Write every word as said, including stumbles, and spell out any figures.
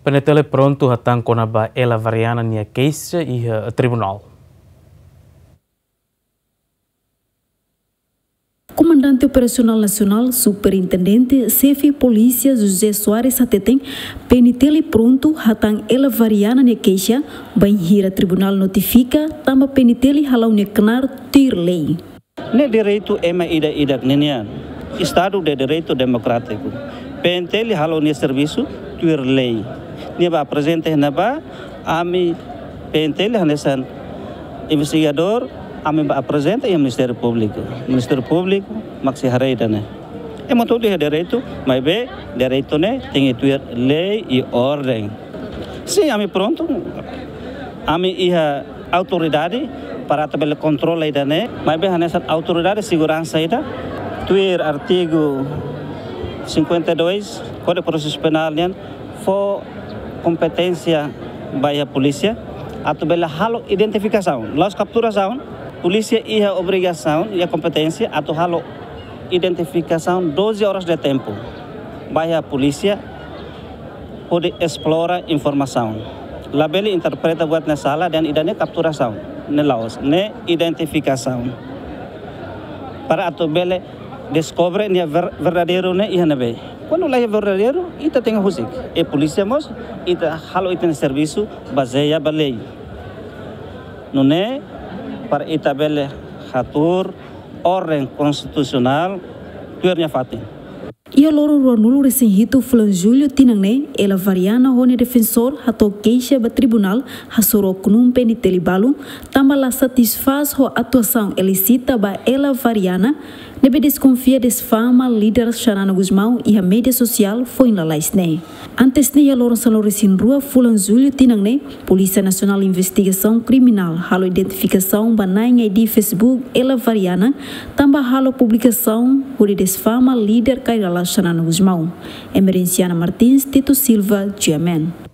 PNTL prontu hatán kona-ba Ela Variana nia keixa iha tribunál. Komandante Operasionál Nasionál, Superintendente Xefe Polísia José Soares hateten, PNTL prontu hatán Ela Variana nia keixa, bainhira tribunál notifika, tanba PNTL hala'o nia knaar tuir lei. Ne'e direitu ema ida-idak ninian. Estado de Direito Democrático. PNTL halo nia servisu tuir lei. Nia bá aprezenta iha ne'ebá, ami PNTL hanesan investigadór, ami bá aprezenta iha Ministériu Públiku. Ministériu Públiku mak sei haree ida-ne'e. Ema hotu iha direitu, maibé direitu ne'e tenke tuir lei i orden. Sin, ami prontu. Ami iha autoridade para atu bele kontrola ida-ne'e, maibé hanesan autoridade seguransa ida, tuir artigu cinquenta e dois Kódigu Prosesu Penál nian, fó kompeténsia ba iha polísia atu bele halo identifikasaun, la'ós kapturasaun. Polísia iha obrigasaun, iha kompeténsia atu halo identifikasaun doze horas de tempu. Ba iha polísia hodi esplora informasaun. Labele interpreta buat ne'e sala dehan ida-ne'e kapturasaun. Ne'e la'ós, ne'e identifikasaun. Para atu bele deskobre nia ver-, verdadeiru ne'e iha ne'ebé. Kuandu la iha verdadeiru, ita tenke husik. I polísia mós, ita halo ita-nia servisu bazeia ba lei. Nune'e, para ita bele hatuur orden konstitusionál tuir nia fatin. Iha loron ruanulu-resin-hitu fulan Jullu tinan ne'e, Ela Variana ho nia defensór hato'o keixa ba tribunál hasoru oknum PNTL balu, tanba la satisfás ho atuasaun ilísita ba Ela Variana, ne'ebé deskonfia desfama líder Xanana Gusmão iha média sosiál foin lalais ne'e. Antes ne'e, iha loron sanulu-resin-rua fulan Jullu tinan ne'e, Polísia Nasionál Investigasaun Kriminál halo identifikasaun ba na'in I D Facebook Ela Variana, tanba halo publikasaun hodi desfama líder Kay Rala Xanana Gusmão. Emerenciana Martins, Tito Silva, G M N.